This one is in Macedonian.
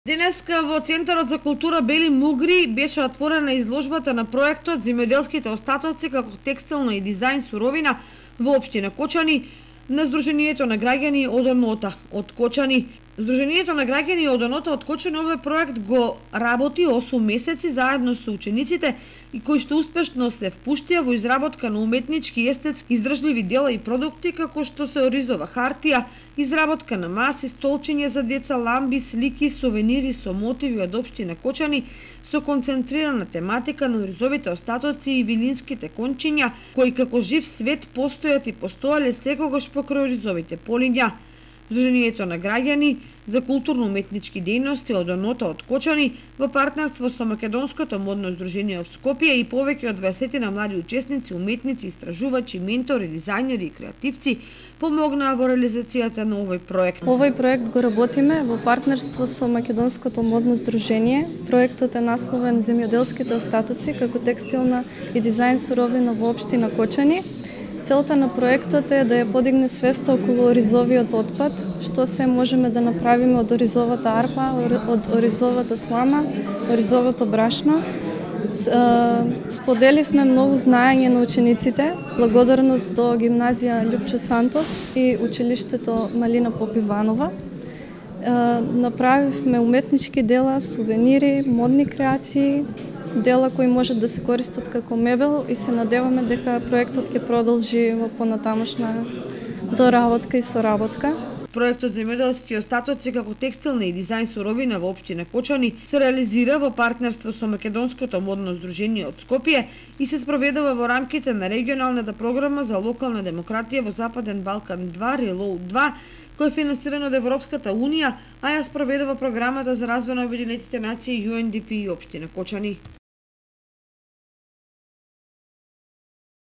Денеска во Центарот за култура Бели Мугри беше отворена изложбата на проектот Земјоделските остатоци како текстилна и дизајн суровина во општина Кочани на Сдруженијето на граѓани од Онота од Кочани. Сдруженијето на граѓани од Онота од Кочани овој проект го работи 8 месеци заедно со учениците и кои што успешно се впуштија во изработка на уметнички и естетски издржливи дела и продукти како што се оризова хартија, изработка на маси, столчиња за деца, ламби, слики, сувенири со мотиви од општина Кочани со концентрирана тематика на оризовите остатоци и вилинските кончиња кои како жив свет постојат и постоеле секогаш покрај оризовите полиња. Сдруженијето на граѓани за културно-уметнички дејности од Онота од Кочани во партнерство со Македонското модно здружение од Скопје и повеќе од 20 на млади учесници, уметници, истражувачи, ментори, дизајнери и креативци помогнаа во реализацијата на овој проект. Овој проект го работиме во партнерство со Македонското модно здружение. Проектот е насловен Земјоделските остатоци како текстилна и дизајн суровина во општина Кочани. Целта на проектот е да ја подигне свеста околу оризовиот отпад, што се можеме да направиме од оризовата арпа, од оризовата слама, оризовото брашно. Споделивме многу знаење на учениците, благодарност до гимназија Љупчо Сантов и училиштето Малина Попиванова. Направивме уметнички дела, сувенири, модни креации, дела кои можат да се користат како мебел и се надеваме дека проектот ќе продолжи во понатамошна доработка и соработка. Проектот Земјоделски остатоци како текстилна и дизајн суровина во општина Кочани се реализира во партнерство со Македонското модно здружение од Скопје и се спроведува во рамките на регионалната програма за локална демократија во Западен Балкан 2 Reload 2, кој е финансиран од Европската унија, а ја спроведува програмата за развој на Обединетите нации UNDP и општина Кочани.